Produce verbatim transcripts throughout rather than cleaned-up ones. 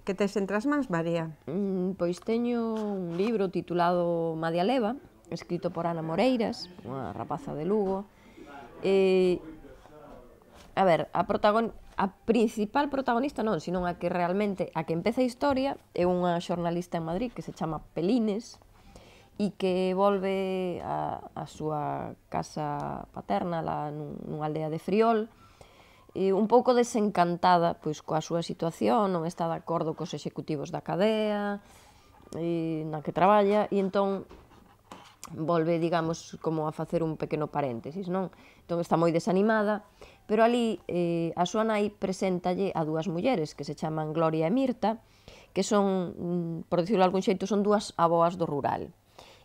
que tes entre as mans, María? Mm, pois teño un libro titulado Madia Leva, escrito por Ana Moreiras, unha rapaza de Lugo. E, a ver, a, protagon... a principal protagonista non, sino a que realmente, a que empeza a historia, é unha xornalista en Madrid que se chama Pelines, e que volve a, a súa casa paterna, lá nunha aldea de Friol, e un pouco desencantada pois, coa súa situación, non está de acordo cos executivos da cadea e na que traballa, e entón volve, digamos, como a facer un pequeno paréntesis, non? Entón está moi desanimada, pero ali eh, a súa nai preséntalle a dúas mulleres que se chaman Gloria e Mirta, que son, por decirlo de algún xeito, son dúas aboas do rural.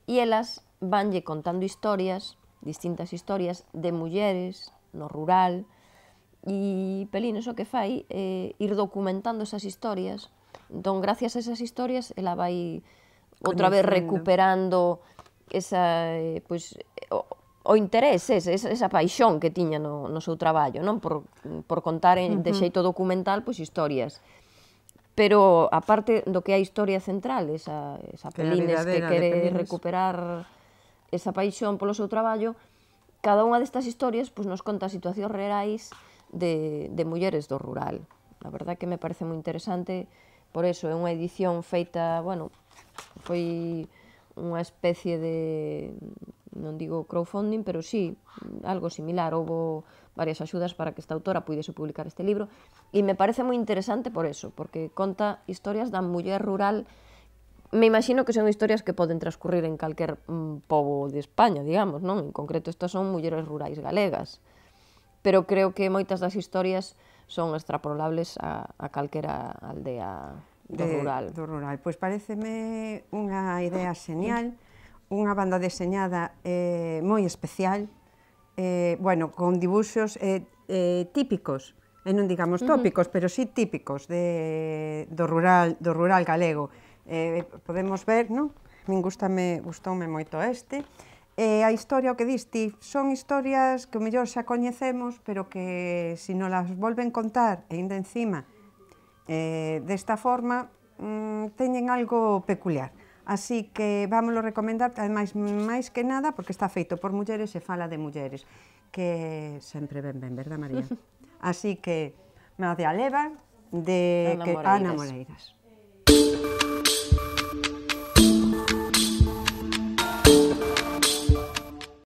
E elas vanlle contando historias, distintas historias, de mulleres no rural, e Pelines o que fai é ir documentando esas historias. Entón, gracias a esas historias, ela vai outra vez recuperando esa, pois, o, o interés, esa, esa paixón que tiña no, no seu traballo, non? Por, por contar en, de xeito documental pois, historias. Pero, aparte do que é a historia central, esa, esa Pelines que quere recuperar esa paixón polo seu traballo, cada unha destas historias pois, nos conta situacións reais de, de mulleres do rural. A verdade que me parece moi interesante, por eso é unha edición feita, bueno, foi unha especie de, non digo crowdfunding, pero sí, algo similar. Houbo varias axudas para que esta autora puidese publicar este libro, e me parece moi interesante por eso, porque conta historias da muller rural. Me imagino que son historias que poden transcurrir en calquer mm, pobo de España, digamos, non? En concreto, estas son mulleres rurais galegas. Pero creo que moitas das historias son extrapolables a, a calquera aldea do de, rural. Do rural. Pois pareceme unha idea señal, unha banda deseñada eh, moi especial, eh, bueno, con dibuxos eh, eh, típicos, e non digamos tópicos, uh -huh. pero sí típicos de, do, rural, do rural galego. Eh, podemos ver, non? Min gustame, gustoume moito este. E a historia, o que diste, son historias que o mellor xa coñecemos, pero que se nos las volven contar, e ainda encima, eh, desta forma, mmm, teñen algo peculiar. Así que vámoslo recomendar, ademais, máis que nada, porque está feito por mulleres e fala de mulleres, que sempre ben ben, verdad, María? Así que, Madia Leva, de Ana que, Moreiras. Ana Moreiras.